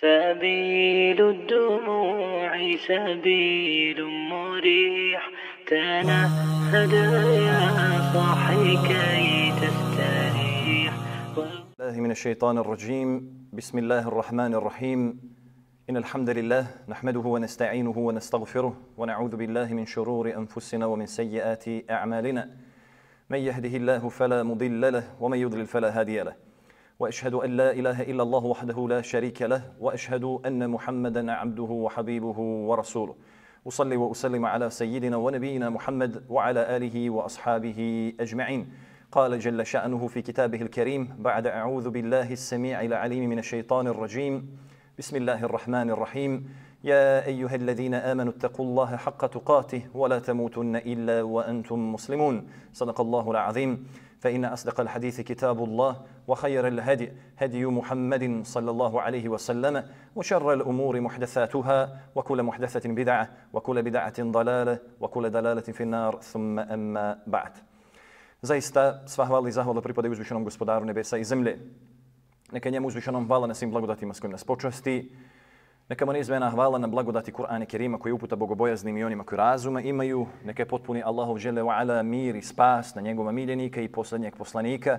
سبيل الدموع سبيل مريح تنهد يا صاحي كي تستريح. الله من الشيطان الرجيم. بسم الله الرحمن الرحيم. إن الحمد لله نحمده ونستعينه ونستغفره ونعوذ بالله من شرور أنفسنا ومن سيئات أعمالنا. من يهده الله فلا مضل له ومن يضلل فلا هادي له. وأشهد أن لا إله إلا الله وحده لا شريك له وأشهد أن محمدا عبده وحبيبه ورسوله. أصلي وأسلم على سيدنا ونبينا محمد وعلى آله وأصحابه أجمعين. قال جل شأنه في كتابه الكريم بعد أعوذ بالله السميع العليم من الشيطان الرجيم. بسم الله الرحمن الرحيم. يا أيها الذين آمنوا اتقوا الله حق تقاته ولا تموتن إلا وأنتم مسلمون. صدق الله العظيم. فإن أصدق الحديث كتاب الله وخير الهدي هدي محمد صلى الله عليه وسلم وشر الأمور محدثاتها وكل محدثة بدعة وكل بدعة ضلالة وكل ضلالة في النار ثم أما بعد. Zaista sva hvala i zahvala pripadaju uzvišenom gospodaru nebesa i zemlje. Neka njemu uzvišenom hvala na svim blagodatima s kojim nas počasti. Neka mu neizmjerna hvala na blagodati Kur'ana Kerima koji uputa bogobojaznim i onima koji razuma imaju. Neka je potpuni Allahov dželle ve ala mir i spas na njegova miljenika i posljednjeg poslanika,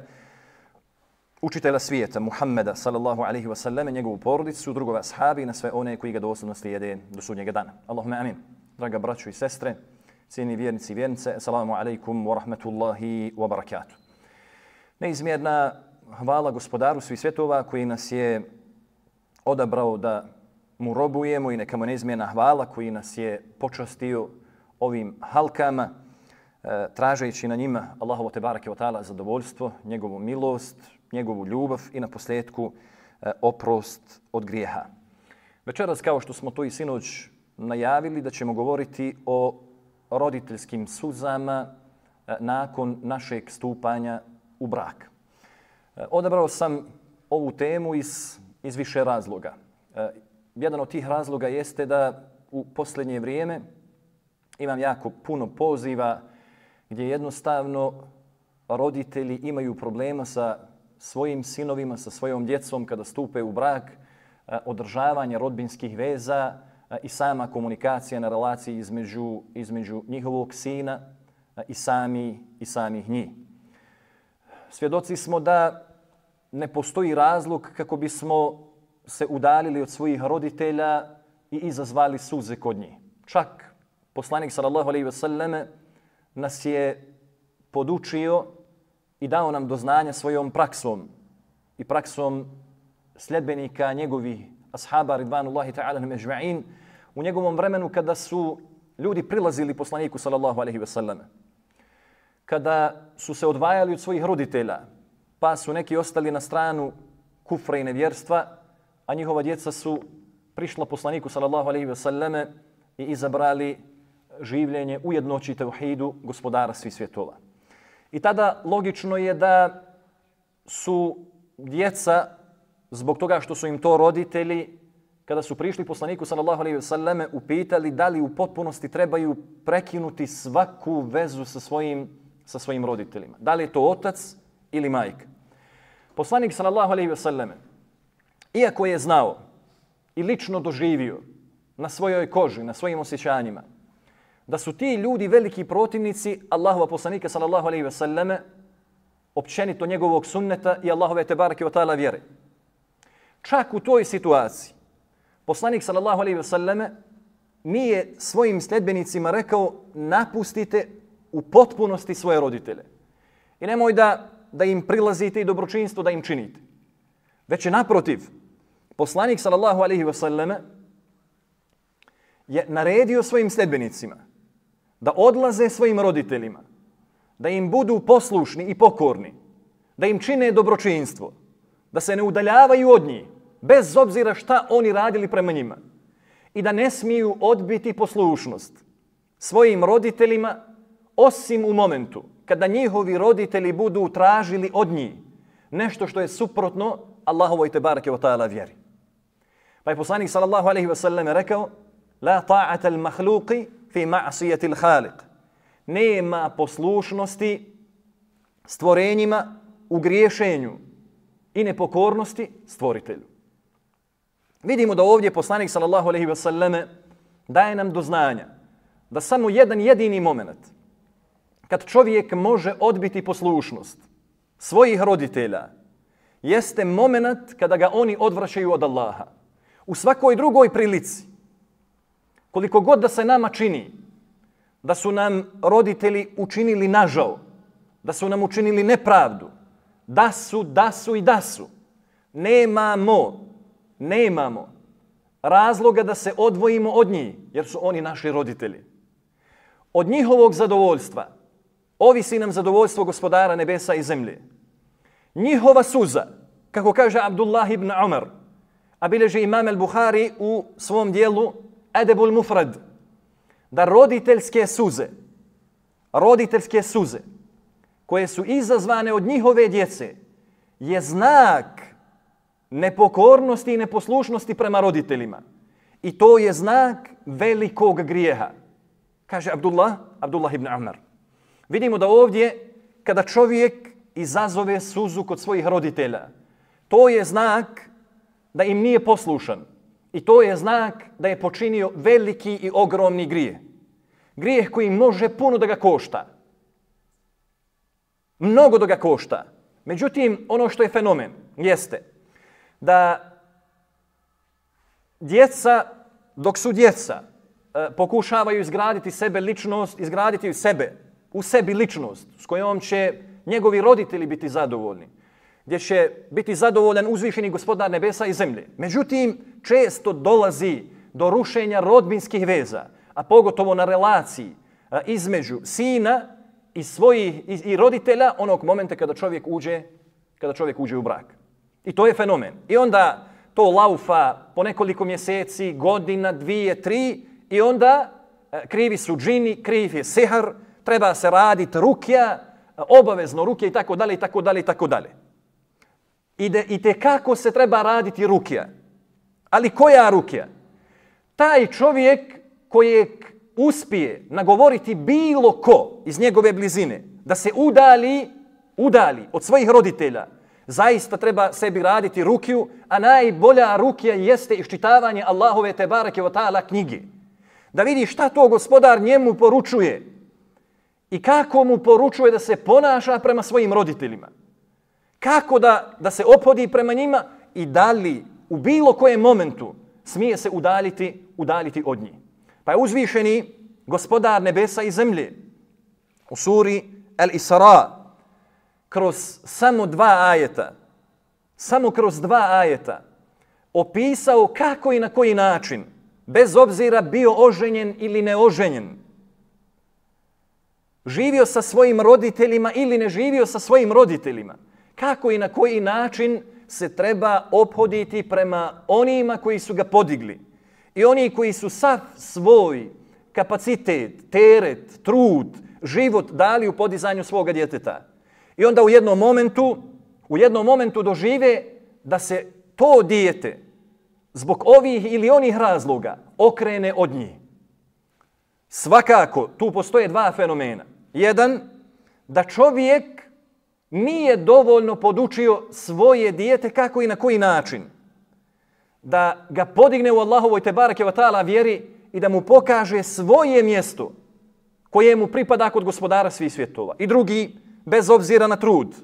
učitelja svijeta Muhammeda sallallahu alaihi wa sallam, njegovu porodicu, drugove ashabi i na sve one koji ga doslovno slijede do sudnjega dana. Allahumma amin. Draga braćo i sestre, cijeni vjernici i vjernice, assalamu alaikum wa rahmatullahi wa barakatuh. Neizmjerna hvala gospodaru svih svjetova koji nas je odabrao da mu robujemo i neka mu neizmjerna hvala koji nas je počastio ovim halkama, tražeći na njima Allahovo tebareke ve taala zadovoljstvo, njegovu milost, njegovu ljubav i na posljedku oprost od grijeha. Večeras, kao što smo to i sinoć najavili, da ćemo govoriti o roditeljskim suzama nakon našeg stupanja u brak. Odabrao sam ovu temu iz više razloga. Jedan od tih razloga jeste da u posljednje vrijeme imam jako puno poziva gdje jednostavno roditelji imaju problema sa svojim sinovima, sa svojom djecom kada stupe u brak, održavanje rodbinskih veza i sama komunikacija na relaciji između njihovog sina i samih njih. Svjedoci smo da ne postoji razlog kako bismo se udaljili od svojih roditelja i izazvali suze kod njih. Čak poslanik sallallahu alejhi ve selleme nas je podučio i dao nam do znanja svojom praksom i praksom sljedbenika njegovih ashaba ridvanullahi ta'ala ajma'in u njegovom vremenu kada su ljudi prilazili poslaniku sallallahu alejhi ve selleme. Kada su se odvajali od svojih roditelja, pa su neki ostali na stranu kufra i nevjerstva, a njihova djeca su prišla poslaniku sallallahu alejhi ve selleme i izabrali življenje u jednoći tevhidu gospodara svih svjetova. I tada logično je da su djeca, zbog toga što su im to roditelji, kada su prišli poslaniku sallallahu alejhi ve selleme, upitali da li u potpunosti trebaju prekinuti svaku vezu sa svojim roditeljima. Da li je to otac ili majka. Poslanik sallallahu alejhi ve selleme, iako je znao i lično doživio na svojoj koži, na svojim osjećanjima, da su ti ljudi veliki protivnici Allahova poslanika sallallahu alejhi ve selleme, općenito njegovog sunneta i Allahove tebareke ve taala vjere. Čak u toj situaciji poslanik sallallahu alejhi ve selleme nije svojim sljedbenicima rekao napustite u potpunosti svoje roditelje. I nemoj da im prilazite i dobročinstvo da im činite. Već je naprotiv, poslanik sallallahu alejhi ve selleme je naredio svojim sljedbenicima da odlaze svojim roditeljima, da im budu poslušni i pokorni, da im čine dobročinstvo, da se ne udaljavaju od njih, bez obzira šta oni radili prema njima, i da ne smiju odbiti poslušnost svojim roditeljima, osim u momentu kada njihovi roditelji budu tražili od njih nešto što je suprotno Allahovoj tebareke ve taala vjeri. Pa je poslanik sallallahu alejhi ve sellem rekao: la ta'ata al-makhluqi fi ma'siyati al-khaliq. Nema poslušnosti stvorenjima u griješenju i nepokornosti stvoritelju. Vidimo da ovdje poslanik sallallahu alejhi ve selleme daje nam do znanja da samo jedan jedini moment kad čovjek može odbiti poslušnost svojih roditelja jeste moment kada ga oni odvraćaju od Allaha. U svakoj drugoj prilici, koliko god da se nama čini da su nam roditelji učinili nažao, da su nam učinili nepravdu, da su, nemamo razloga da se odvojimo od njih, jer su oni naši roditelji. Od njihovog zadovoljstva ovisi nam zadovoljstvo Gospodara nebesa i zemlje. Njihova suza, kako kaže Abdullah ibn Umar, a bilježi Imam al-Buhari u svom dijelu Adabul Mufrad, da roditeljske suze koje su izazvane od njihove djece je znak nepokornosti i neposlušnosti prema roditeljima. I to je znak velikog grijeha. Kaže Abdullah ibn Umar. Vidimo da ovdje kada čovjek izazove suzu kod svojih roditelja, to je znak da im nije poslušan. I to je znak da je počinio veliki i ogromni grijeh. Grijeh koji može puno da ga košta. Mnogo da ga košta. Međutim, ono što je fenomen jeste da djeca, dok su djeca, pokušavaju izgraditi u sebi ličnost s kojom će njegovi roditelji biti zadovoljni, gdje će biti zadovoljan uzvišeni Gospodar nebesa i zemlje. Međutim, često dolazi do rušenja rodbinskih veza, a pogotovo na relaciji između sina i roditelja onog momenta kada čovjek uđe u brak. I to je fenomen. I onda to laufa po nekoliko mjeseci, godina, 2, 3 i onda krivi su džini, kriv je sihar, treba se raditi rukja, obavezno rukja i tako dalje. I tekako se treba raditi rukja. Ali koja rukja? Taj čovjek kojeg uspije nagovoriti bilo ko iz njegove blizine da se udali od svojih roditelja, zaista treba sebi raditi rukju, a najbolja rukja jeste iščitavanje Allahove tebareke ve ta'ala knjige. Da vidi šta to Gospodar njemu poručuje i kako mu poručuje da se ponaša prema svojim roditeljima. Kako da se ophodi prema njima i da li u bilo kojem momentu smije se udaljiti od njih. Pa je uzvišeni Gospodar nebesa i zemlje u suri Al-Isra kroz samo 2 ajeta opisao kako i na koji način, bez obzira bio oženjen ili neoženjen, živio sa svojim roditeljima ili ne živio sa svojim roditeljima, kako i na koji način se treba ophoditi prema onima koji su ga podigli i oni koji su sav svoj kapacitet, teret, trud, život dali u podizanju svoga djeteta. I onda u jednom momentu dožive da se to dijete zbog ovih ili onih razloga okrene od njih. Svakako, tu postoje 2 fenomena. Jedan, da čovjek nije dovoljno podučio svoje dijete kako i na koji način da ga podigne u Allahovoj tebareke ve ta'ala vjeri i da mu pokaže svoje mjesto koje mu pripada kod Gospodara svih svjetova. I drugi, bez obzira na trud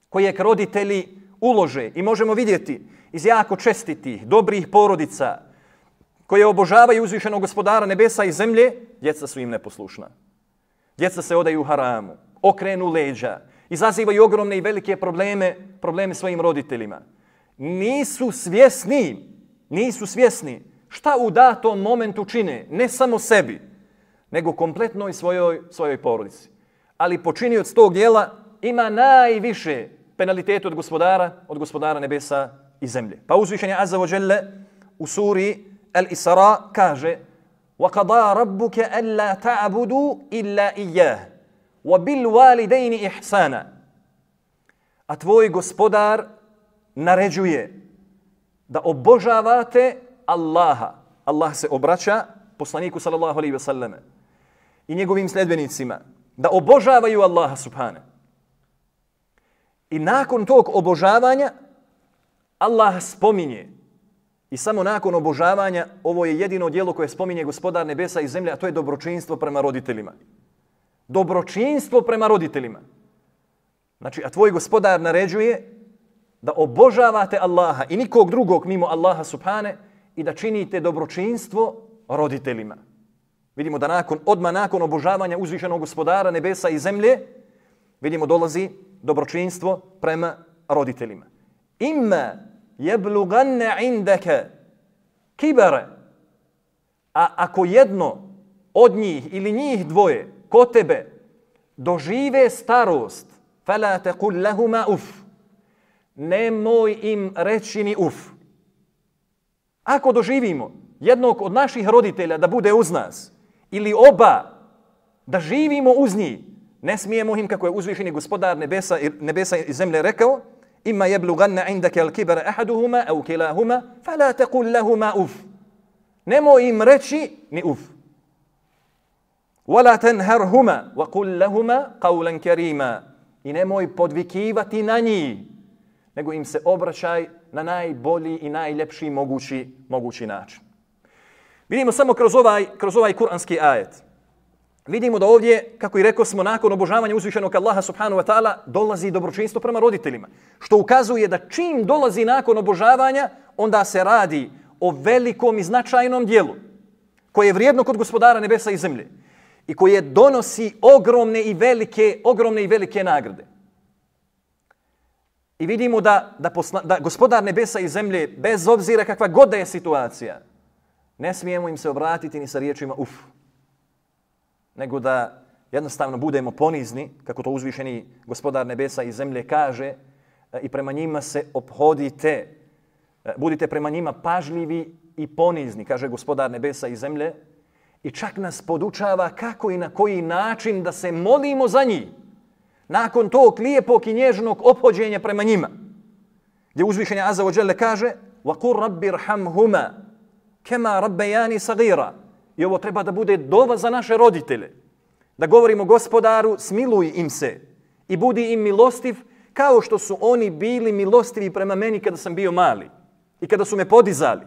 kojeg roditelji ulože, i možemo vidjeti iz jako čestitih, dobrih porodica koje obožavaju uzvišenog Gospodara nebesa i zemlje, djeca su im neposlušna. Djeca se odaju haramu, okrenu leđa, izazivaju ogromne i velike probleme svojim roditeljima. Nisu svjesni šta u datom momentu čine, ne samo sebi, nego kompletnoj svojoj porodici. Ali počinioc tog djela ima najviše penalitete od Gospodara nebesa i zemlje. Pa uzvišenje Azza wa Jalla u suri Al-Isra kaže: وَقَضَى رَبُّكَ أَلَّا تَعْبُدُوا إِلَّا إِيَّهُ وَبِالْوَالِدَيْنِ إِحْسَانًا. A tvoj Gospodar naređuje da obožavate Allaha. Allah se obraća poslaniku sallallahu alejhi ve selleme i njegovim sljedbenicima da obožavaju Allaha subhane. I nakon tog obožavanja Allah spominje I samo nakon obožavanja ovo je jedino djelo koje spominje Gospodar nebesa i zemlje, a to je dobročinstvo prema roditeljima. Dobročinstvo prema roditeljima. Znači, a tvoj Gospodar naređuje da obožavate Allaha i nikog drugog mimo Allaha subhane i da činite dobročinstvo roditeljima. Vidimo da odmah nakon obožavanja uzvišenog Gospodara nebesa i zemlje, vidimo dolazi dobročinstvo prema roditeljima. Imma jebluganne indaka kibara. A ako jedno od njih ili njih dvoje kod tebe dožive starost, fala taqul lahuma uf. Nemoj im reći ni uf. Ako doživimo jednog od naših roditelja da bude uz nas ili oba da živimo uz njih, ne smijemo im, kako je uzvišeni Gospodar nebesa i zemlje rekao, imma jeblughanna indaka al-kibara ahaduhuma aw kilahuma fala taqul lahuma uf. Nemoj im reći ni uf. Wala tanharhuma wa qul lahuma qawlan karima. I nemoj podvikivati na njih, nego im se obraćaj na najbolji i najljepši mogući način. Vidimo samo kroz ovaj kuranski ajet. Vidimo da ovdje, kako i rekao smo, nakon obožavanja uzvišenog Allaha subhanahu wa ta'ala dolazi dobročinstvo prema roditeljima. Što ukazuje da čim dolazi nakon obožavanja, onda se radi o velikom i značajnom dijelu koje je vrijedno kod Gospodara nebesa i zemlje i koje donosi ogromne i velike nagrade. I vidimo da Gospodar nebesa i zemlje, bez obzira kakva god da je situacija, ne smijemo im se obratiti ni sa riječima uf, nego da jednostavno budemo ponizni, kako to uzvišeni Gospodar nebesa i zemlje kaže, i prema njima se ophodite. Budite prema njima pažljivi i ponizni, kaže Gospodar nebesa i zemlje, i čak nas podučava kako i na koji način da se molimo za njih. Nakon tog lijepog i nježnog ophođenja prema njima, gdje uzvišeni Azza wa Jalla kaže وَقُلْ رَبِّ رْحَمْهُمَا كَمَا رَبَّيَانِ صَغِيرًا. I ovo treba da bude dova za naše roditelje. Da govorimo Gospodaru, smiluj im se i budi im milostiv kao što su oni bili milostivi prema meni kada sam bio mali i kada su me podizali.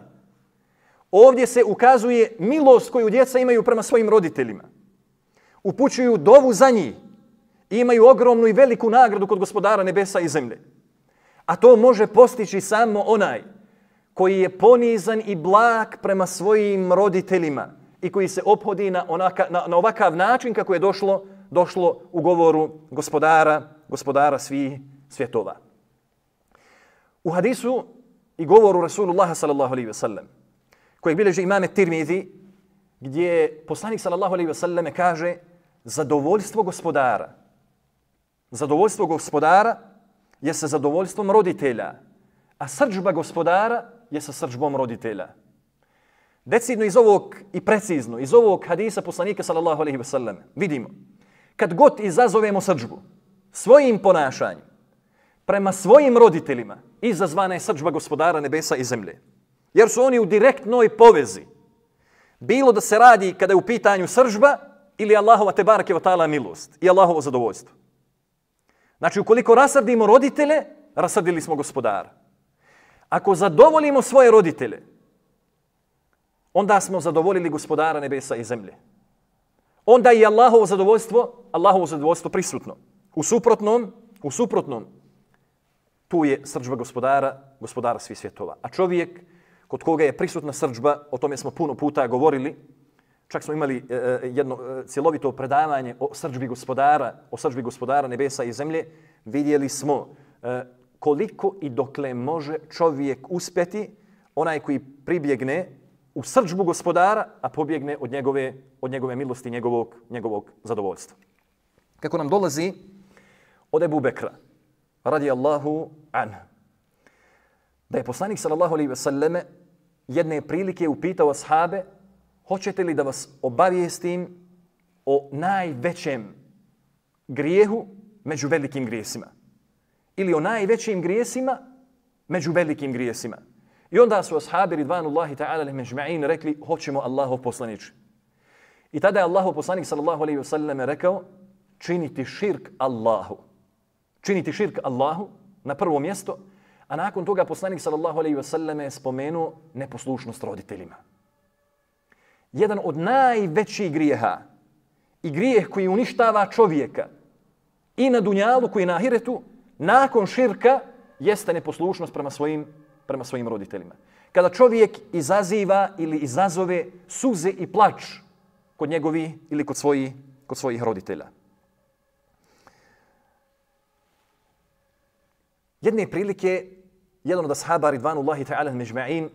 Ovdje se ukazuje milost koju djeca imaju prema svojim roditeljima. Upućuju dovu za njih i imaju ogromnu i veliku nagradu kod Gospodara nebesa i zemlje. A to može postići samo onaj koji je ponizan i blag prema svojim roditeljima i koji se ophodi na ovakav način kako je došlo u govoru Gospodara svih svjetova. U hadisu i govoru Rasulullaha sallallahu alaihi ve sellem, koji bilježi imame Tirmizi, gdje poslanik sallallahu alaihi ve sellem kaže zadovoljstvo gospodara je sa zadovoljstvom roditelja, a srdžba gospodara je sa srdžbom roditelja. Decidno iz ovog i precizno iz ovog hadisa poslanika sallallahu alejhi ve sellem vidimo kad god izazovemo srdžbu svojim ponašanjem prema svojim roditeljima, izazvana je srdžba Gospodara nebesa i zemlje. Jer su oni u direktnoj povezi. Bilo da se radi kada je u pitanju srdžba ili Allahova tebareke ve taala milost i Allahovo zadovoljstvo. Znači, ukoliko rasrdimo roditelje, rasrdili smo Gospodara. Ako zadovoljimo svoje roditelje, onda smo zadovoljili Gospodara nebesa i zemlje. Onda je Allahovo zadovoljstvo prisutno. U suprotnom, tu je srdžba Gospodara svih svjetova. A čovjek kod koga je prisutna srdžba, o tome smo puno puta govorili, čak smo imali jedno cjelovito predavanje o srdžbi Gospodara nebesa i zemlje, vidjeli smo koliko i dokle može čovjek uspjeti, onaj koji pribjegne u srdžbu Gospodara, a pobjegne od njegove milosti, njegovog zadovoljstva. Kako nam dolazi od Ebu Bekra, radijallahu anhu, da je poslanik sallallahu alejhi ve selleme jedne prilike upitao ashabe: hoćete li da vas obavijestim o najvećem grijehu među velikim grijesima? Ili o najvećim grijesima među velikim grijesima? I onda su ashabi ridvanullahi ta'ala alejhim ecma'in rekli: hoćemo, Allahov poslaniče. I tada je Allahov poslanik sallallahu alejhi ve selleme rekao: činiti širk Allahu na prvo mjesto, A nakon toga poslanik sallallahu alejhi ve selleme je spomenuo neposlušnost roditeljima. Jedan od najvećih grijeha i grijeh koji uništava čovjeka i na dunjaluku i na ahiretu nakon širka jeste neposlušnost prema svojim roditeljima. Kada čovjek izaziva ili izazove suze i plač kod njegovi ili kod svojih roditelja. Jedne prilike, jedan od ashaba ridvanullahi ta'ala međma'in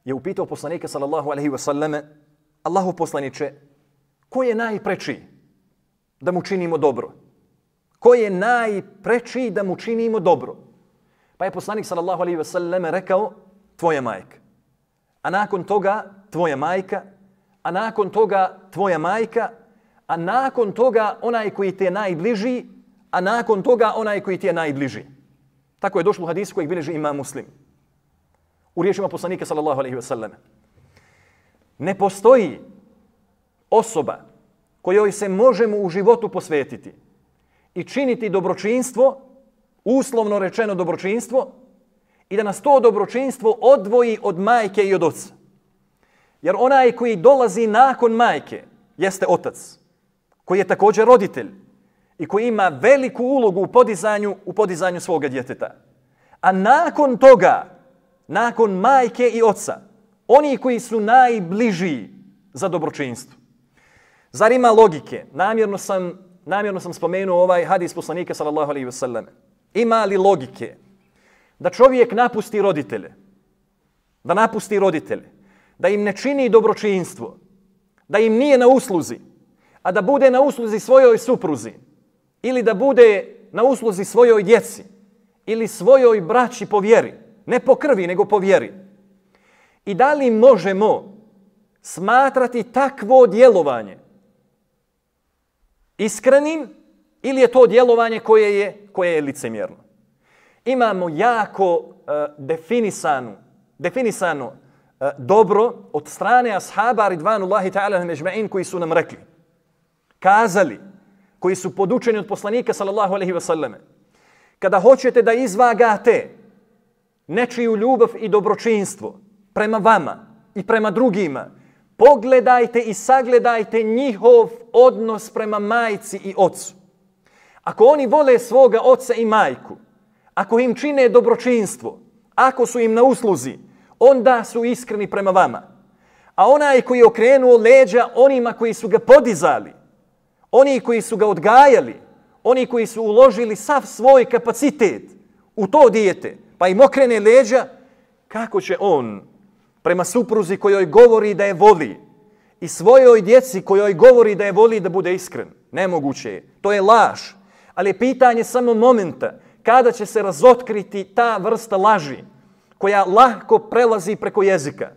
je upitao poslanika sallallahu alaihi wa sallame, Allahu poslaniče, ko je najpreči da mu činimo dobro? Ko je najpreči da mu činimo dobro? Pa je poslanik sallallahu alaihi wa sallame rekao, tvoja majka. A nakon toga tvoja majka, a nakon toga tvoja majka, a nakon toga onaj koji ti je najbliži, a nakon toga onaj koji ti je najbliži. Tako je došlo u hadisu kojeg bilježi Imam Muslim. U riječima poslanika sallallahu alejhi ve selleme. Ne postoji osoba kojoj se možemo u životu posvetiti i činiti dobročinstvo, uslovno rečeno dobročinstvo, i da nas to dobročinstvo odvoji od majke i od oca. Jer onaj koji dolazi nakon majke jeste otac, koji je također roditelj i koji ima veliku ulogu u podizanju svoga djeteta. A nakon toga, nakon majke i oca, oni koji su najbliži za dobročinstvo. Zar ima logike? Namjerno sam spomenuo ovaj hadis poslanika sallallahu alejhi ve selleme. Ima li logike da čovjek napusti roditelje? Da im ne čini dobročinstvo, da im nije na usluzi, a da bude na usluzi svojoj supruzi, ili da bude na usluzi svojoj djeci, ili svojoj braći po vjeri, ne po krvi, nego po vjeri. I da li možemo smatrati takvo djelovanje iskrenim, ili je to djelovanje koje je licemjerno? Imamo jako definisano dobro od strane ashaba ridvanullahi ta'ala međma'in koji su nam rekli, kazali, koji su podučeni od poslanika sallallahu alejhi ve selleme. Kada hoćete da izvagate nečiju ljubav i dobročinstvo prema vama i prema drugima, pogledajte i sagledajte njihov odnos prema majci i ocu. Ako oni vole svoga oca i majku, ako im čine dobročinstvo, ako su im na usluzi, onda su iskreni prema vama. A onaj koji je okrenuo leđa onima koji su ga podizali, oni koji su ga odgajali, oni koji su uložili sav svoj kapacitet u to dijete, pa im okrene leđa, kako će on prema supruzi kojoj govori da je voli i svojoj djeci kojoj govori da je voli da bude iskren? Nemoguće je. To je laž. Ali je pitanje samo momenta kada će se razotkriti ta vrsta laži koja lahko prelazi preko jezika.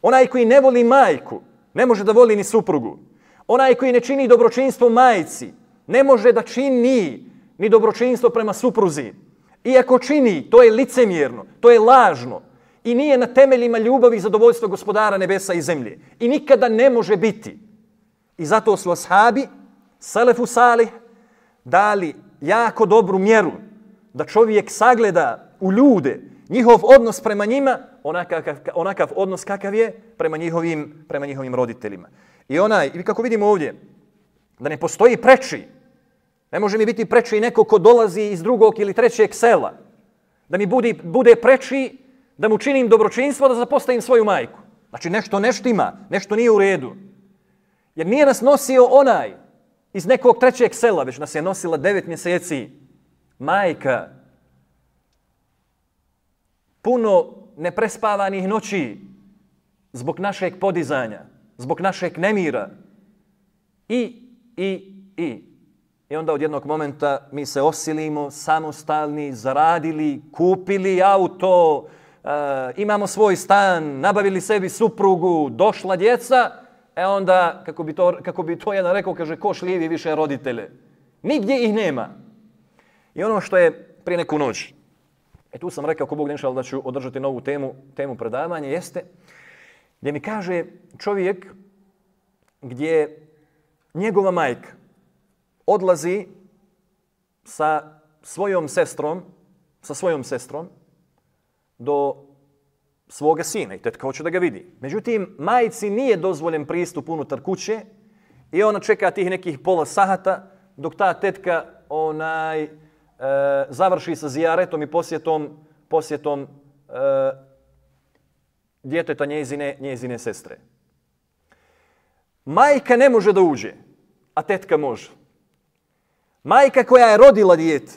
Onaj koji ne voli majku ne može da voli ni suprugu. Onaj koji ne čini dobročinstvo majci ne može da čini ni dobročinstvo prema supruzi. Iako čini, to je licemjerno, to je lažno i nije na temeljima ljubavi i zadovoljstva Gospodara nebesa i zemlje. I nikada ne može biti. I zato su ashabi, selefu salih, dali jako dobru mjeru da čovjek sagleda u ljude njihov odnos prema njima, onakav odnos kakav je prema njihovim roditeljima. I kako vidimo ovdje, da ne postoji preči. Ne može mi biti preči neko ko dolazi iz drugog ili trećeg sela. Da mi bude preči da mu činim dobročinstvo, da zapostavim svoju majku. Znači nešto ne štima, nešto nije u redu. Jer nije nas nosio onaj iz nekog trećeg sela, već nas je nosila 9 mjeseci majka. Puno neprespavanih noći zbog našeg podizanja, zbog našeg nemira. I onda od jednog momenta mi se osilimo, samostalni, zaradili, kupili auto, imamo svoj stan, nabavili sebi suprugu, došla djeca, onda, kako bi to jedan rekao, kaže, ko šljivi više roditelje. Nigdje ih nema. I ono što je prije neku noć, tu sam rekao, ako Bog ne šal, da ću održati novu temu predavanja, jeste gdje mi kaže čovjek gdje njegova majka odlazi sa svojom sestrom do svoga sina i tetka hoće da ga vidi. Međutim, majci nije dozvoljen pristup unutar kuće i ona čeka tih nekih pola sata dok ta tetka završi sa zijaretom i posjetom djeteta njezine sestre. Majka ne može da uđe, a tetka može. Majka koja je rodila dijete,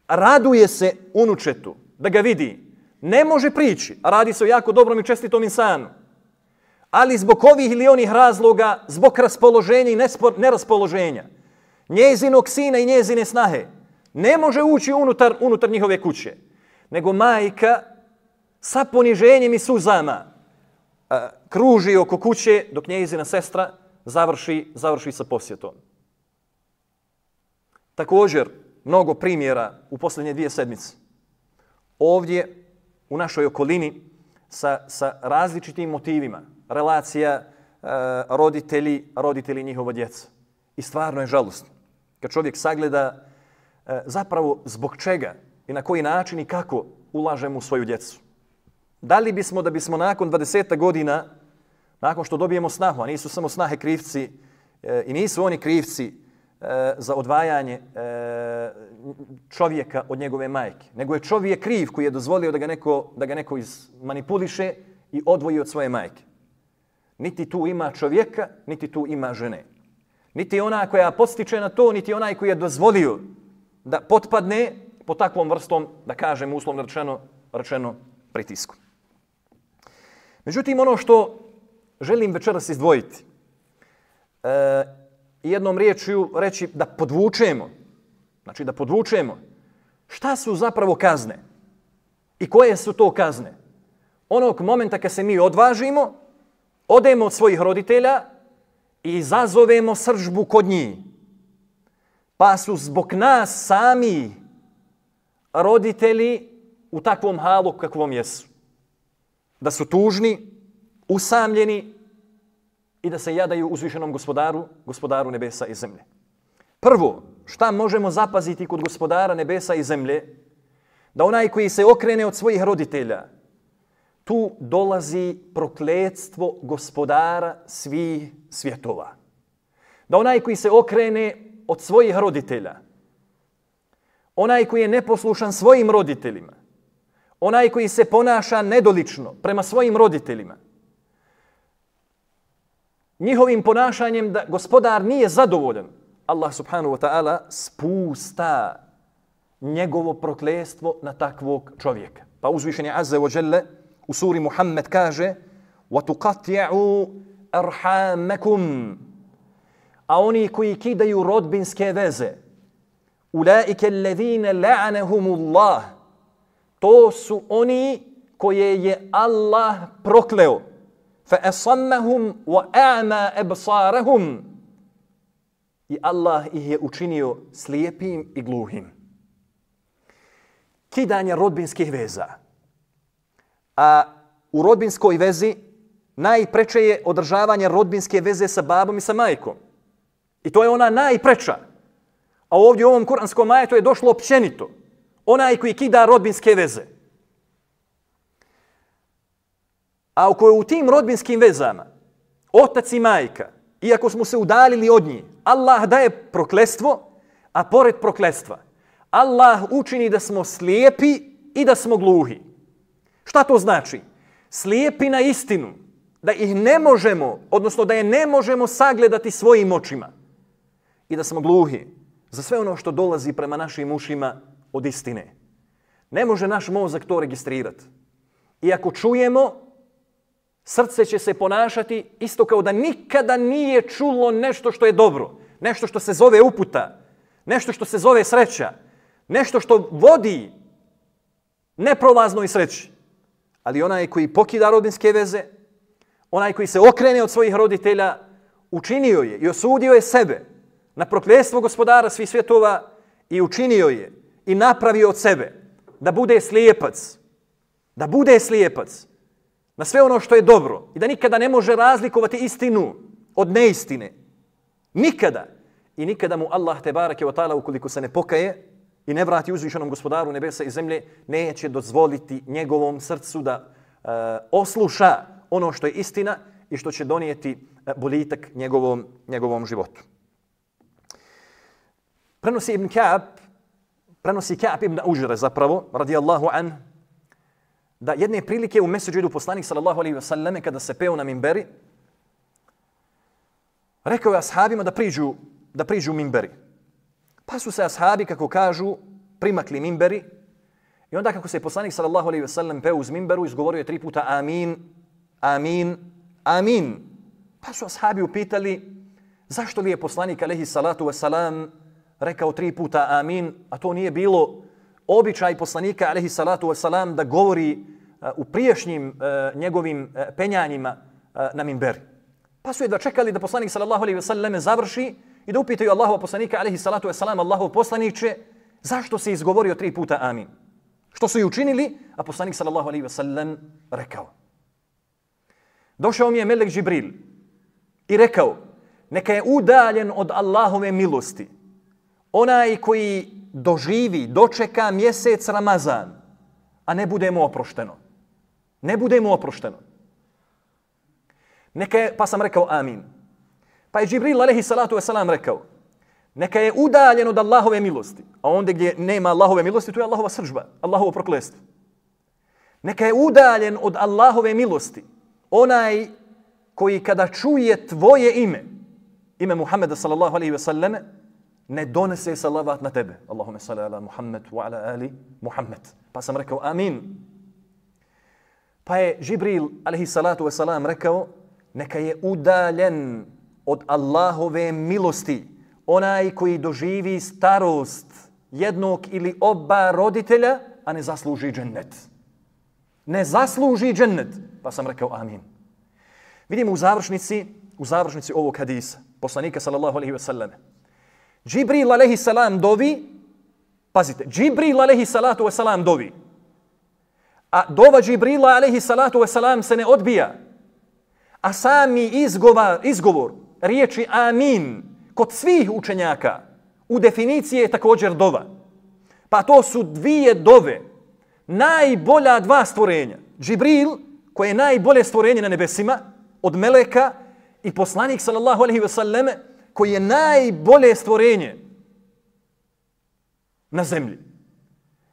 raduje se unučetu da ga vidi. Ne može prići, a radi se o jako dobrom i čestitom insanu. Ali zbog ovih ili onih razloga, zbog raspoloženja i neraspoloženja, njezinog sina i njezine snahe, ne može ući unutar njihove kuće. Nego majka sa poniženjem i suzama kruži oko kuće dok njezina sestra završi sa posjetom. Također, mnogo primjera u posljednje 2 sedmice. Ovdje u našoj okolini sa različitim motivima, relacija roditelji njihova djeca. I stvarno je žalostno kad čovjek sagleda zapravo zbog čega i na koji način i kako ulažemo u svoju djecu. Da li bismo da bismo nakon 20 godina, nakon što dobijemo snahu, a nisu samo snahe krivci i nisu oni krivci za odvajanje čovjeka od njegove majke, nego je čovjek kriv koji je dozvolio da ga neko izmanipuliše i odvoji od svoje majke. Niti tu ima čovjeka, niti tu ima žene. Niti ona koja podstiče na to, niti onaj koji je dozvolio da potpadne po takvom vrstom, da kažem uslovno rečeno, pritisku. Međutim, ono što želim večeras izdvojiti, jednom riječju reći da podvučemo, znači da podvučemo šta su zapravo kazne i koje su to kazne. Onog momenta kad se mi odvažimo, odemo od svojih roditelja i izazovemo srdžbu kod njih. Pa su zbog nas sami roditelji u takvom halu kakvom jesu. Da su tužni, usamljeni i da se jadaju uzvišenom gospodaru nebesa i zemlje. Prvo, šta možemo zapaziti kod gospodara nebesa i zemlje? Da onaj koji se okrene od svojih roditelja, tu dolazi prokletstvo gospodara svih svjetova. Da onaj koji se okrene od svojih roditelja, onaj koji je neposlušan svojim roditeljima, onaj koji se ponaša nedolično prema svojim roditeljima, njihovim ponašanjem da gospodar nije zadovoljan, Allah subhanahu wa ta'ala spusta njegovo prokletstvo na takvog čovjeka. Pa uzvišeni azza wa jalla u suri Muhammed kaže وَتُقَطْيَعُوا أَرْحَامَكُمْ, a oni koji kidaju rodbinske veze, أُولَٰئِكَ الَّذِينَ لَعَنَهُمُ اللَّهِ, to su oni koje je Allah prokleo. فَأَصَمَّهُمْ وَأَعْمَا أَبْصَارَهُمْ, i Allah ih je učinio slijepim i gluhim. Kidanje rodbinskih veza. A u rodbinskoj vezi najpreče je održavanje rodbinske veze sa babom i sa majkom. I to je ona najpreča. A ovdje u ovom kuranskom ajetu je došlo općenito. Onaj koji kida rodbinske veze. A u tim rodbinskim vezama, otac i majka, iako smo se udaljili od njih, Allah daje prokletstvo, a pored prokletstva, Allah učini da smo slijepi i da smo gluhi. Šta to znači? Slijepi na istinu, da ih ne možemo, odnosno da je ne možemo sagledati svojim očima. I da smo gluhi za sve ono što dolazi prema našim ušima od istine. Ne može naš mozak to registrirati. I ako čujemo, srce će se ponašati isto kao da nikada nije čulo nešto što je dobro, nešto što se zove uputa, nešto što se zove sreća, nešto što vodi neprolaznoj sreći. Ali onaj koji pokida rodbinske veze, onaj koji se okrene od svojih roditelja, učinio je i osudio je sebe na prokletstvo gospodara svih svjetova i učinio je i napravio od sebe da bude slijepac, na sve ono što je dobro i da nikada ne može razlikovati istinu od neistine. Nikada. I nikada mu Allah tebareke wa ta'ala, ukoliko se ne pokaje, i ne vrati uzvišenom gospodaru nebesa i zemlje, neće dozvoliti njegovom srcu da osluša ono što je istina i što će donijeti boljitak njegovom životu. Prenosi Ka'b ibn Ujre zapravo, radijallahu an, da jedne prilike u meseđidu poslanik sallallahu alejhi ve selleme kada se peo na minberi, rekao je ashabima da priđu minberi. Pa su se ashabi, kako kažu, primakli minberi i onda kako se poslanik sallallahu alejhi ve sellem peo uz minberu, izgovorio je 3 puta amin, amin, amin. Pa su ashabi upitali zašto li je poslanik alejhi salatu vesselam rekao 3 puta amin, a to nije bilo običaj poslanika alejhi salatu vesselam da govori u prijašnjim njegovim penjanjima na minberi. Pa su jedva čekali da poslanik sallallahu alejhi ve sellem završi i da upitaju Allahova poslanika alejhi salatu vesselam, Allahov poslaniče, zašto si izgovorio 3 puta amin? Što su i učinili, a poslanik sallallahu alejhi ve sellem rekao. Došao mi je melek Džibril i rekao, neka je udaljen od Allahove milosti onaj koji dočeka mjesec Ramazan, a ne bude mu oprošteno. Ne bude mu oprošteno. Pa sam rekao amin. Pa je Džibril alejhi salatu vesselam rekao, neka je udaljen od Allahove milosti, a onda gdje nema Allahove milosti, to je Allahova srdžba, Allahovo prokletstvo. Neka je udaljen od Allahove milosti onaj koji kada čuje tvoje ime Muhammeda sallallahu alejhi ve selleme, ne donese salavat na tebe. Allahumme salli ala Muhammed wa ala ali Muhammed. Pa sam rekao amin. Pa je Džibril alejhi salatu vesselam rekao, neka je udaljen od Allahove milosti onaj koji doživi starost jednog ili oba roditelja, a ne zasluži džennet. Ne zasluži džennet. Pa sam rekao amin. Vidimo u završnici ovog hadisa poslanika sallallahu alejhi ve selleme. Džibril alejhi salam dovi, pazite, Džibril alejhi salatu vesselam dovi. A dova Džibrila alejhi salatu vesselam se ne odbija. A sami izgovor riječi amin kod svih učenjaka u definiciji je također dova. Pa to su 2 dove, najbolja 2 stvorenja. Džibril, koje je najbolje stvorenje na nebesima od meleka, i poslanik sallallahu alejhi ve selleme, koji je najbolje stvorenje na zemlji,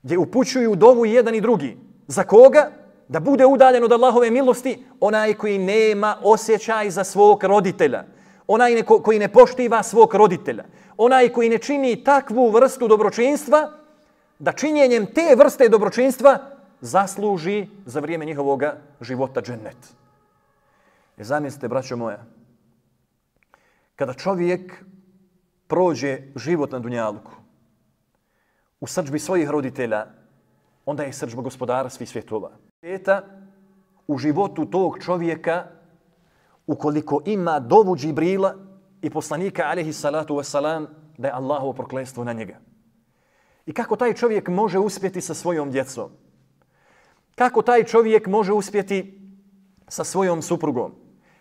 gdje upućuju dovu jedan i drugi. Za koga? Da bude udaljen od Allahove milosti onaj koji nema osjećaj za svog roditelja, onaj koji ne poštiva svog roditelja, onaj koji ne čini takvu vrstu dobročinstva da činjenjem te vrste dobročinstva zasluži za vrijeme njihovog života džennet. Zamislite, braćo moja, kada čovjek prođe život na dunjaluku u srdžbi svojih roditelja, onda je srdžba gospodara svih svjetova. U životu tog čovjeka, ukoliko ima dovu Džibrila i poslanika alejhi salatu vesselam, da je Allahovo prokletstvo na njega. I kako taj čovjek može uspjeti sa svojom djecom? Kako taj čovjek može uspjeti sa svojom suprugom?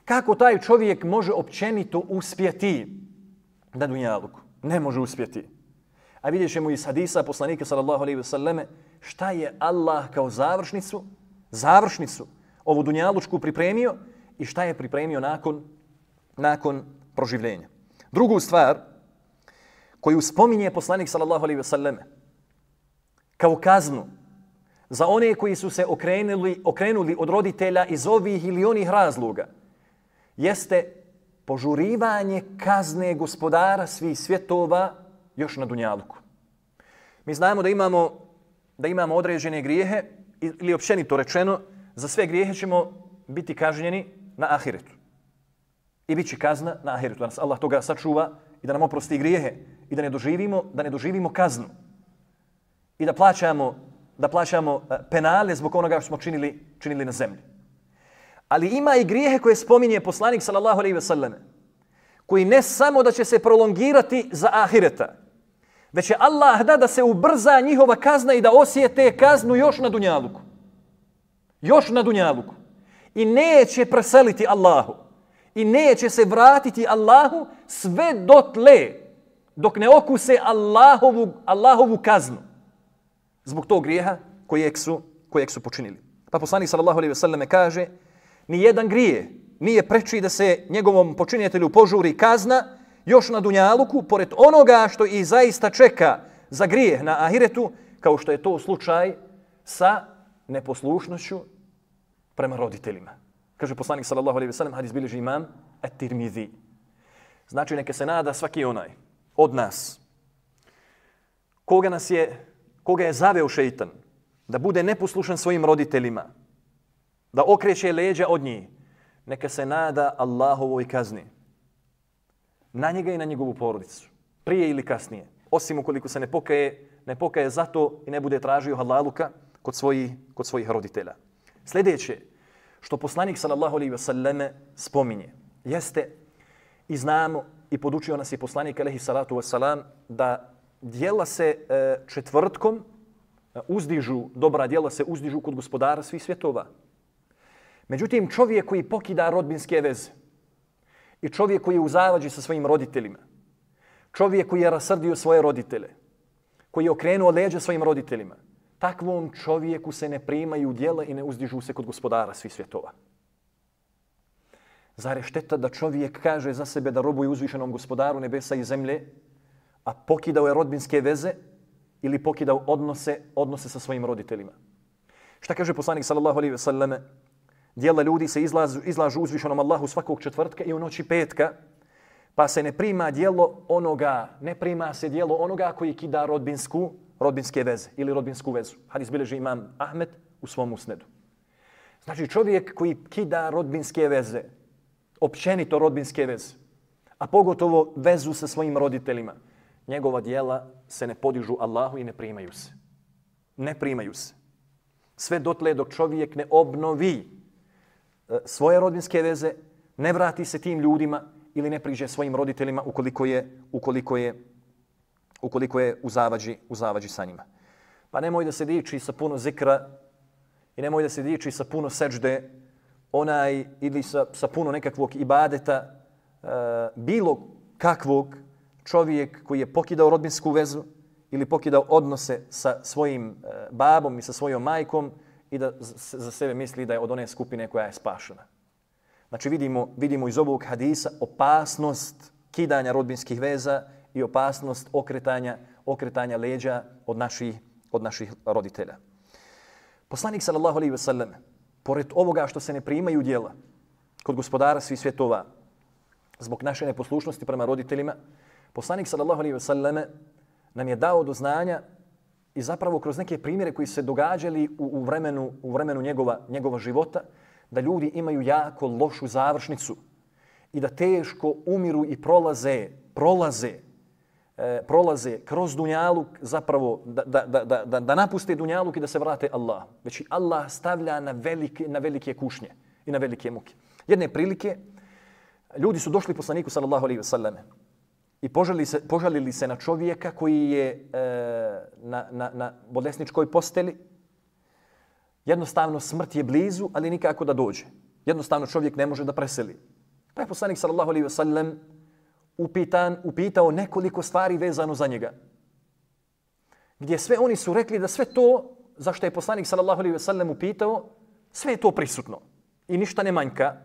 Kako taj čovjek može općenito uspjeti na dunjaluku? Ne može uspjeti. A vidjet ćemo iz hadisa poslanika sallallahu alejhi ve selleme šta je Allah kao završnicu ovu dunjalučku pripremio i šta je pripremio nakon proživljenja. Drugu stvar koju spominje poslanik sallallahu alejhi ve selleme kao kaznu za one koji su se okrenuli od roditelja iz ovih ili onih razloga jeste požurivanje kazne gospodara svih svjetova još na dunjaluku. Mi znamo da imamo određene grijehe ili općenito rečeno, za sve grijehe ćemo biti kažnjeni na ahiretu. I bit će kazna na ahiretu. Da nas Allah toga sačuva i da nam oprosti grijehe i da ne doživimo kaznu. I da plaćamo penale zbog onoga što smo činili na zemlji. Ali ima i grijehe koje spominje poslanik sallallahu alejhi ve selleme, koji ne samo da će se prolongirati za ahireta, već će Allah da se ubrza njihova kazna i da osjete kaznu još na dunjaluku. Još na dunjaluku. I neće preseliti Allahu. I neće se vratiti Allahu sve dotle dok ne okuse Allahovu kaznu zbog tog grijeha kojeg su počinili. Pa poslanik sallallahu alejhi ve selleme kaže: ni jedan grije nije preči da se njegovom počinitelju požuri kazna još na dunjaluku, pored onoga što i zaista čeka za grijeh na ahiretu, kao što je to slučaj sa neposlušnošću prema roditeljima. Kaže poslanik sallallahu alejhi ve sellem, hadis bilježi imam at-Tirmizi. Znači neka se nada svaki onaj od nas koga je zaveo šejtan da bude neposlušan svojim roditeljima, da okreće leđa od njih, neka se nada Allahovoj kazni na njega i na njegovu porodicu, prije ili kasnije, osim ukoliko se ne pokaje za to i ne bude tražio halaluka kod svojih roditelja. Sljedeće što poslanik sallallahu alejhi ve selleme spominje jeste, i znamo i podučio nas je poslanik alejhi salatu vesselam, da djela se četvrtkom uzdižu, dobra djela se uzdižu kod gospodara svih svjetova. Međutim, čovjek koji pokida rodbinske veze i čovjek koji je u zavađi sa svojim roditeljima, čovjek koji je rasrdio svoje roditelje, koji je okrenuo leđa svojim roditeljima, takvom čovjeku se ne primaju djela i ne uzdižu se kod gospodara svih svjetova. Zar je šteta da čovjek kaže za sebe da robuje uzvišenom gospodaru nebesa i zemlje, a pokidao je rodbinske veze ili pokidao odnose sa svojim roditeljima? Šta kaže poslanik sallallahu alejhi ve selleme? Djela ljudi se izlažu uzvišenom Allahu svakog četvrtka i u noći petka, pa se ne prima se djelo onoga koji kida rodbinske veze ili rodbinsku vezu. Hadis bilježi imam Ahmed u svom musnedu. Znači čovjek koji kida rodbinske veze, općenito rodbinske veze, a pogotovo vezu sa svojim roditeljima, njegova djela se ne podižu Allahu i ne primaju se. Ne primaju se. Sve dotle dok čovjek ne obnovi svoje rodbinske veze, ne vrati se tim ljudima ili ne priđe svojim roditeljima ukoliko je u zavađi sa njima. Pa nemoj da se diči sa puno zikra i nemoj da se diči sa puno seđde ili sa puno nekakvog ibadeta, bilo kakvog, čovjek koji je pokidao rodbinsku vezu ili pokidao odnose sa svojim babom i sa svojom majkom i da za sebe misli da je od one skupine koja je spašena. Znači vidimo iz ovog hadisa opasnost kidanja rodbinskih veza i opasnost okretanja leđa od naših roditelja. Poslanik sallallahu alejhi ve sellem, pored ovoga što se ne primaju djela kod gospodara svih svjetova zbog naše neposlušnosti prema roditeljima, poslanik sallallahu alejhi ve selleme nam je dao do znanja i zapravo kroz neke primjere koji se događali u vremenu njegova života, da ljudi imaju jako lošu završnicu i da teško umiru i prolaze kroz dunjaluk, zapravo da napuste dunjaluk i da se vrate Allahu. Već i Allah stavlja na velike kušnje i na velike muke. Jedne prilike ljudi su došli poslaniku sallallahu alejhi ve selleme i požalili se na čovjeka koji je na bolesničkoj posteli. Jednostavno smrt je blizu, ali nikako da dođe. Jednostavno čovjek ne može da preseli. Pa je poslanik sallallahu alejhi ve sellem upitao nekoliko stvari vezano za njega. Gdje sve oni su rekli da sve to zašto je poslanik sallallahu alejhi ve sellem upitao, sve je to prisutno i ništa ne manjka.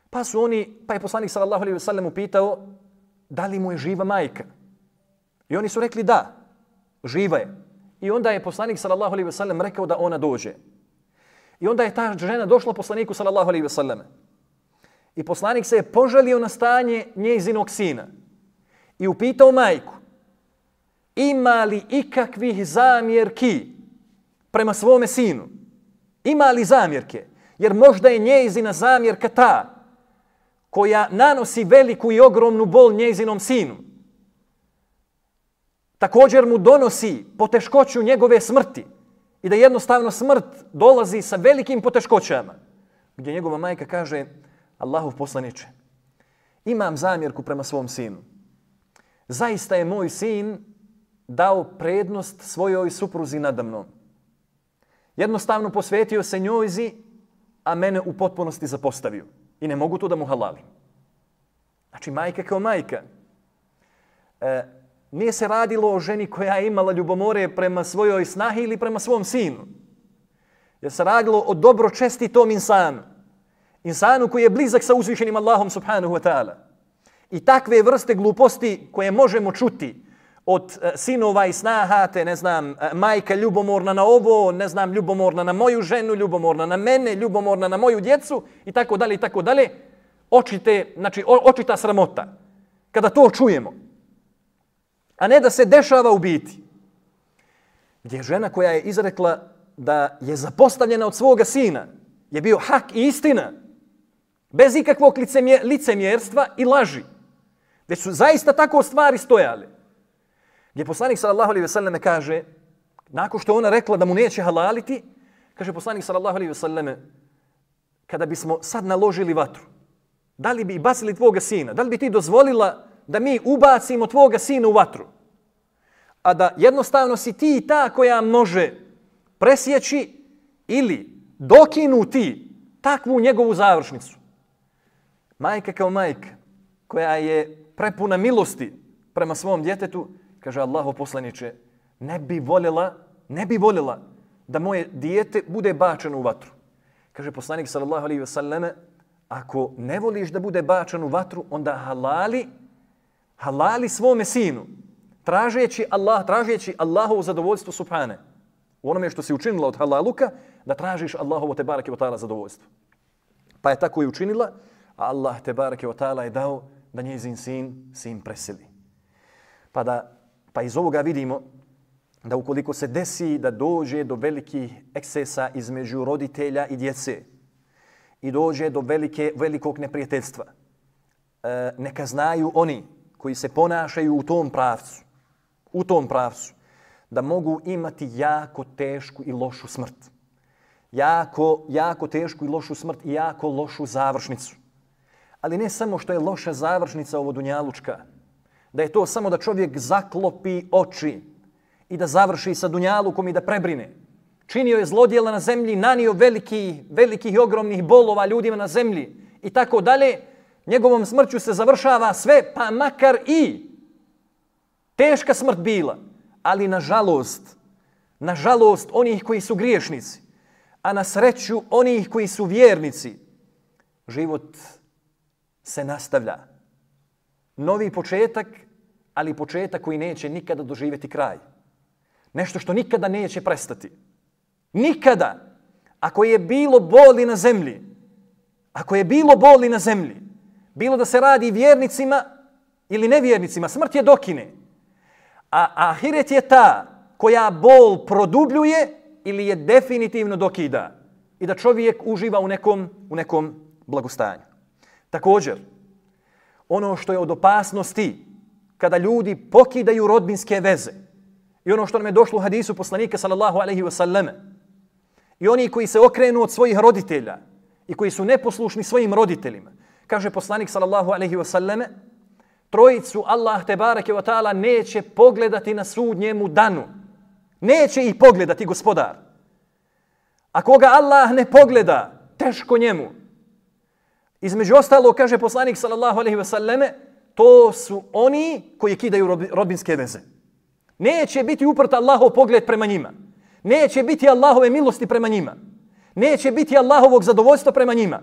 Pa je poslanik sallallahu alejhi ve sellem upitao da li mu je živa majka. I oni su rekli da, živa je. I onda je poslanik sallallahu alejhi ve sellem rekao da ona dođe. I onda je ta žena došla poslaniku sallallahu alejhi ve sellem. I poslanik se je požalio na stanje njezinog sina i upitao majku: ima li ikakvih zamjerki prema svome sinu? Ima li zamjerke? Jer možda je njezina zamjerka ta koja nanosi veliku i ogromnu bol njezinom sinu. Također mu donosi poteškoću njegove smrti i da jednostavno smrt dolazi sa velikim poteškoćama. Gdje njegova majka kaže: Allahov poslaniče, imam zamjerku prema svom sinu. Zaista je moj sin dao prednost svojoj supruzi nadamnom. Jednostavno posvetio se njojzi, a mene u potpunosti zapostavio. I ne mogu to da mu halalim. Znači majka kao majka. Nije se radilo o ženi koja je imala ljubomore prema svojoj snahi ili prema svom sinu. Jer se radilo o dobročestitom insanu. Insanu koji je blizak sa uzvišenim Allahom subhanahu wa ta'ala. I takve vrste gluposti koje možemo čuti od sinova i snaha, te ne znam, majka ljubomorna na ovo, ne znam, ljubomorna na moju ženu, ljubomorna na mene, ljubomorna na moju djecu i tako dalje, očita sramota. Kada to čujemo. A ne da se dešava u biti. Gdje je žena koja je izrekla da je zapostavljena od svoga sina, je bio hak i istina, bez ikakvog licemjerstva i laži. Gdje su zaista tako stvari stojale. Gdje poslanik sallallahu alejhi ve selleme kaže, nakon što ona rekla da mu neće halaliti, kaže poslanik sallallahu alejhi ve selleme, kada bismo sad naložili vatru, da li bi bacili tvoga sina? Da li bi ti dozvolila da mi ubacimo tvoga sina u vatru? A da jednostavno si ti ta koja može presjeći ili dokinuti takvu njegovu završnicu. Majka kao majka, koja je prepuna milosti prema svom djetetu, kaže Allahov poslaniče, ne bi voljela da moje dijete bude bačeno u vatru. Kaže poslanik sallallahu alejhi ve selleme, ako ne voliš da bude bačen u vatru, onda halali svome sinu, tražeći Allahovo zadovoljstvo subhane. U onome što si učinila od halaluka, da tražiš Allahovo te bareke ve ta'ala zadovoljstvo. Pa je tako i učinila, a Allah te bareke ve ta'ala je dao da njezin sin preseli. Pa iz ovoga vidimo da ukoliko se desi da dođe do velikih ekscesa između roditelja i djece i dođe do velikog neprijateljstva, neka znaju oni koji se ponašaju u tom pravcu, da mogu imati jako tešku i lošu smrt. Jako tešku i lošu smrt i jako lošu završnicu. Ali ne samo što je loša završnica ovo dunjalučka, da je to samo da čovjek zaklopi oči i da završi sa dunjalukom i da prebrine. Činio je zlodjela na zemlji, nanio velikih i ogromnih bolova ljudima na zemlji i tako dalje. Njegovom smrću se završava sve, pa makar i teška smrt bila. Ali nažalost onih koji su griješnici, a na sreću onih koji su vjernici, život se nastavlja. Novi početak, ali početak koji neće nikada doživjeti kraj. Nešto što nikada neće prestati. Nikada. Ako je bilo boli na zemlji, bilo da se radi vjernicima ili nevjernicima, smrt je dokine. A ahiret je ta koja bol produbljuje ili je definitivno dokida. I da čovjek uživa u nekom blagostanju. Također, ono što je od opasnosti kada ljudi pokidaju rodbinske veze i ono što nam je došlo u hadisu poslanika sallallahu alejhi ve selleme i oni koji se okrenu od svojih roditelja i koji su neposlušni svojim roditeljima, kaže poslanik sallallahu alejhi ve selleme, trojicu Allah te bareke ve taala neće pogledati na sudnjemu danu. Neće ih pogledati gospodar. A koga Allah ne pogleda, teško njemu. Između ostalo, kaže poslanik sallallahu alejhi ve selleme, to su oni koji kidaju rodbinske veze. Neće biti uprt Allahov pogled prema njima. Neće biti Allahove milosti prema njima. Neće biti Allahovog zadovoljstva prema njima.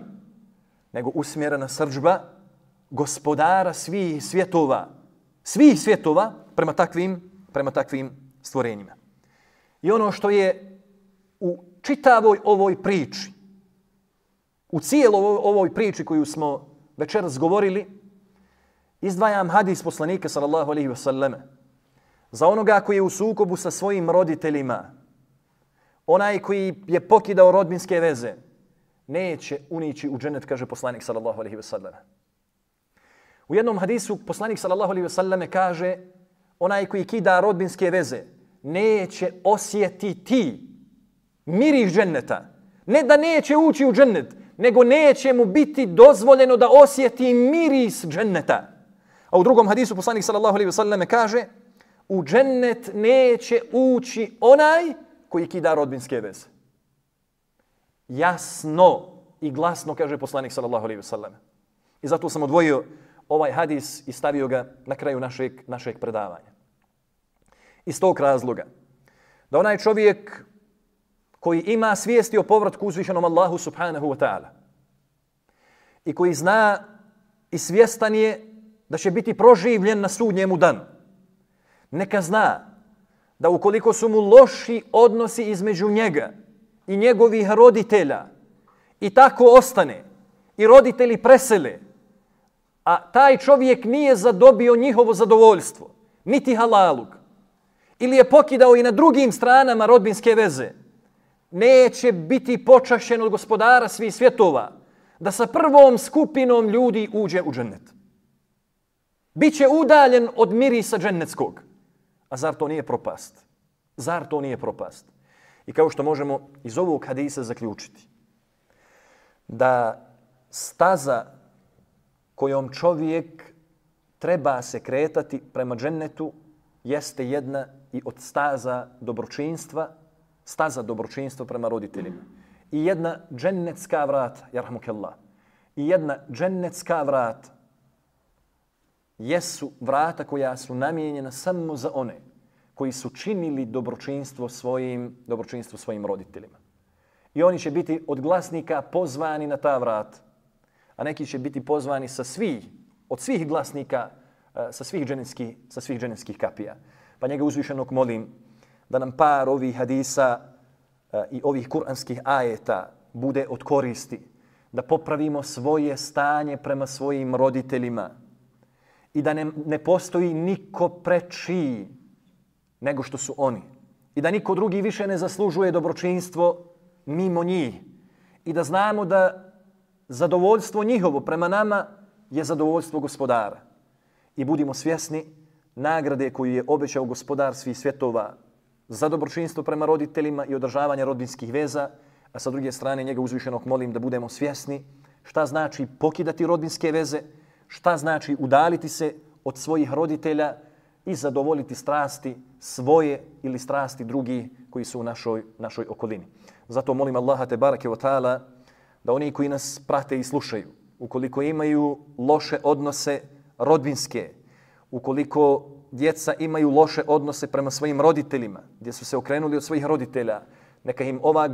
Nego usmjerena srdžba gospodara svih svjetova prema takvim stvorenjima. I ono što je u čitavoj ovoj priči, u cijeloj ovoj priči koju smo večeras govorili, izdvajam hadis poslanika sallallahu alejhi ve selleme. Za onoga koji je u sukobu sa svojim roditeljima, onaj koji je pokidao rodbinske veze, neće unići u džennet, kaže poslanik sallallahu alejhi ve selleme. U jednom hadisu poslanik sallallahu alejhi ve selleme kaže, onaj koji kida rodbinske veze neće osjetiti miris dženneta. Ne da neće ući u džennet, nego neće mu biti dozvoljeno da osjeti miris dženneta. A u drugom hadisu poslanik sallallahu alejhi ve selleme kaže, u džennet neće ući onaj koji kida rodbinske veze. Jasno i glasno kaže poslanik sallallahu alejhi ve selleme. I zato sam odvojio ovaj hadis i stavio ga na kraju našeg predavanja. Iz tog razloga da onaj čovjek koji ima svijesti o povratku uzvišenom Allahu subhanahu wa ta'ala i koji zna i svjestan je da će biti proživljen na sudnjemu danu, neka zna da ukoliko su mu loši odnosi između njega i njegovih roditelja i tako ostane i roditelji presele, a taj čovjek nije zadobio njihovo zadovoljstvo, niti halalug, ili je pokidao i na drugim stranama rodbinske veze, neće biti počašćen od gospodara svih svjetova da sa prvom skupinom ljudi uđe u džennet. Biće udaljen od mirisa džennetskog. A zar to nije propast? Zar to nije propast? I kao što možemo iz ovog hadisa zaključiti, da staza kojom čovjek treba se kretati prema džennetu jeste jedna i od staza dobročinstva prema roditeljima. I jedna džennetska vrata, jarhamukallah, i jedna džennetska vrata jesu vrata koja su namijenjena samo za one koji su činili dobročinstvo svojim roditeljima. I oni će biti od glasnika pozvani na ta vrata, a neki će biti pozvani od svih glasnika, sa svih dženevskih kapija. Pa njega uzvišenog molim da nam par ovih hadisa i ovih kuranskih ajeta bude od koristi, da popravimo svoje stanje prema svojim roditeljima i da ne postoji niko preči nego što su oni. I da niko drugi više ne zaslužuje dobročinstvo mimo njih. I da znamo da zadovoljstvo njihovo prema nama je zadovoljstvo gospodara. I budimo svjesni nagrade koju je obećao gospodar svih svjetova za dobročinstvo prema roditeljima i održavanje rodbinskih veza, a sa druge strane njega uzvišenog molim da budemo svjesni šta znači pokidati rodbinske veze, šta znači udaliti se od svojih roditelja i zadovoljiti strasti svoje ili strasti drugih koji su u našoj okolini. Zato molim Allaha te barake wa ta'ala da oni koji nas prate i slušaju, ukoliko imaju loše odnose rodbinske, ukoliko djeca imaju loše odnose prema svojim roditeljima, gdje su se okrenuli od svojih roditelja, neka im ovaj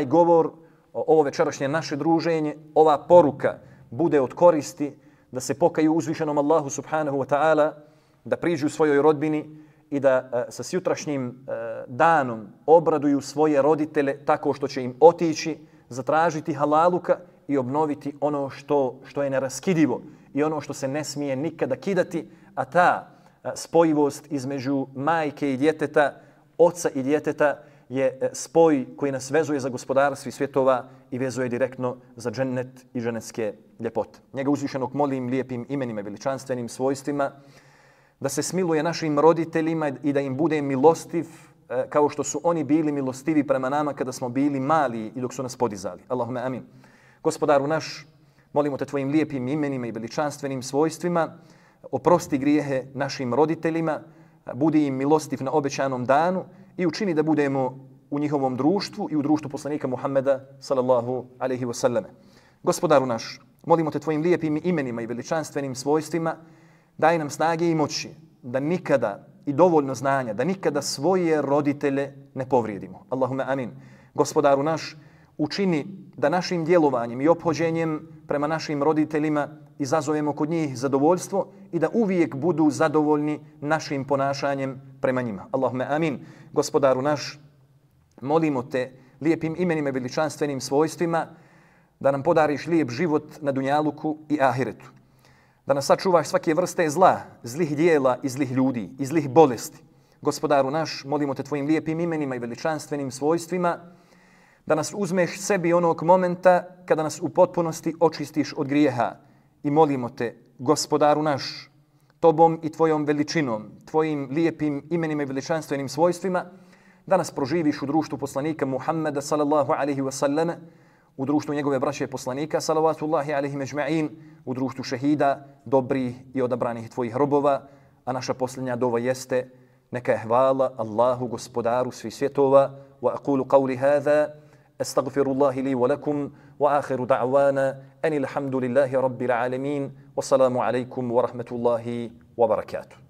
govor, ovo večerašnje naše druženje, ova poruka bude od koristi, da se pokaju uzvišenom Allahu subhanahu wa ta'ala, da priđu svojoj rodbini i da sa sutrašnjim danom obraduju svoje roditelje tako što će im otići, zatražiti halaluka i obnoviti ono što je neraskidivo i ono što se ne smije nikada kidati, a ta spojivost između majke i djeteta, oca i djeteta je spoj koji nas vezuje za gospodara svih svjetova i vezuje direktno za džennet i džennetske ljepote. Njega uzvišenog molim lijepim imenima, veličanstvenim svojstvima, da se smiluje našim roditeljima i da im bude milostiv kao što su oni bili milostivi prema nama kada smo bili mali i dok su nas podizali. Allahume amin. Gospodaru naš, molimo te tvojim lijepim imenima i veličanstvenim svojstvima, oprosti grijehe našim roditeljima, budi im milostiv na obećanom danu i učini da budemo u njihovom društvu i u društvu poslanika Muhammeda sallallahu alejhi ve selleme. Gospodaru naš, molimo te tvojim lijepim imenima i veličanstvenim svojstvima, daj nam snage i moći da nikada i dovoljno znanja, da nikada svoje roditelje ne povrijedimo. Allahume amin. Gospodaru naš, učini da našim djelovanjem i ophođenjem prema našim roditeljima izazovemo kod njih zadovoljstvo i da uvijek budu zadovoljni našim ponašanjem prema njima. Allahume amin. Gospodaru naš, molimo te lijepim imenima i veličanstvenim svojstvima da nam podariš lijep život na dunjaluku i ahiretu. Da nas sačuvaš svake vrste zla, zlih dijela i zlih ljudi i zlih bolesti. Gospodaru naš, molimo te tvojim lijepim imenima i veličanstvenim svojstvima da nas uzmeš sebi onog momenta kada nas u potpunosti očistiš od grijeha. I molimo te, gospodaru naš, tobom i tvojom veličinom, tvojim lijepim imenima i veličanstvenim svojstvima, da nas proživiš u društvu poslanika Muhammeda sallallahu alaihi wa sallame, u društvu njegove braće poslanika salavatullahi alaihim ejma'in, u društvu šehida, dobrih i odabranih tvojih robova, a naša posljednja dova jeste neka je hvala Allahu gospodaru svih svjetova wa aqulu qawli hadha أستغفر الله لي ولكم وآخر دعوانا أن الحمد لله رب العالمين والسلام عليكم ورحمة الله وبركاته.